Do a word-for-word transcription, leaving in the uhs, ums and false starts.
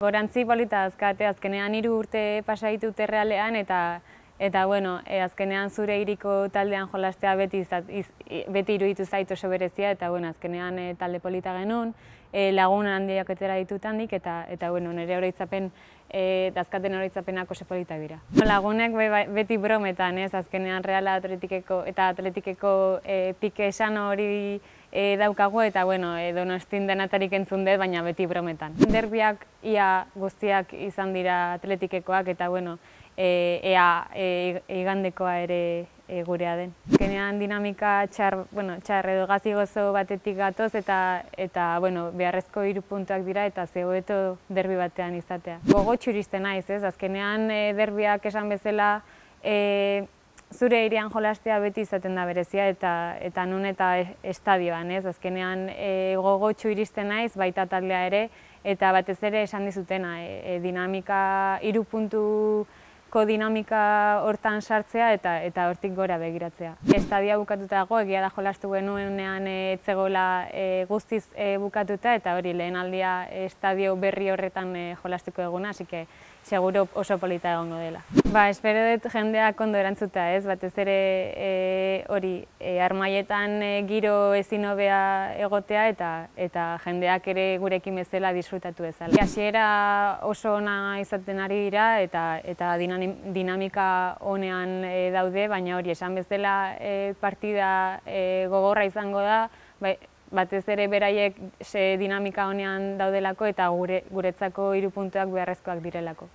Gorantzi polita azkate, azkenean hiru urte pasa ditut errealean eta eta bueno, e, azkenean zure hiriko taldean jolastea beti izat, iz, beti iruditu zait oso berezia eta bueno, azkenean e, talde polita genuen, e, lagun handiak etera ditut handik eta eta bueno, nire oroitzapen e, dazkaten oroitzapenak oso politak dira. Lagunek be, beti brometan, ez, azkenean Reala Atletikeko eta Atletikeko e, pike esan hori E, daukagu eta bueno, e, Donostin denatarik entzun dut, baina beti brometan. Derbiak ia guztiak izan dira Atletikekoak eta bueno, e, ea e, igandekoa ere e, gurea den. Azkenean dinamika txar, bueno, txar edo gazi gozo batetik gatoz eta eta bueno, beharrezko hiru puntuak dira eta zegoeto derbi batean izatea. Gogotsu iristen naiz, ez? Azkenean e, derbiak esan bezala e, zure hirian jolastea beti izaten da berezia eta eta nun eta estadioan, ez? Azkenean e, gogotsu iristen naiz, baita taldea ere, eta batez ere esan dizutena, e, e, dinamika, hiru puntuko dinamika hortan sartzea eta eta hortik gora begiratzea. Estadioa bukatuta dago, egia da jolastu genuenean ez zegoela e, guztiz e, bukatuta eta hori lehen aldia estadio berri horretan e, jolastuko eguna, así que seguro oso polita egongo dela. Ba, espero dut jendeak ondo erantzuta, ez? Batez ere e, hori, e, Armaietan e, giro ezin hobea egotea eta eta jendeak ere gurekin bezala disfrutatu bezala. Hasiera oso ona izaten ari dira eta eta dinamika onean e, daude, baina hori esan bezala e, partida e, gogorra izango da, bai, batez ere beraiek dinamika honean daudelako eta gure, guretzako hiru puntuak beharrezkoak direlako.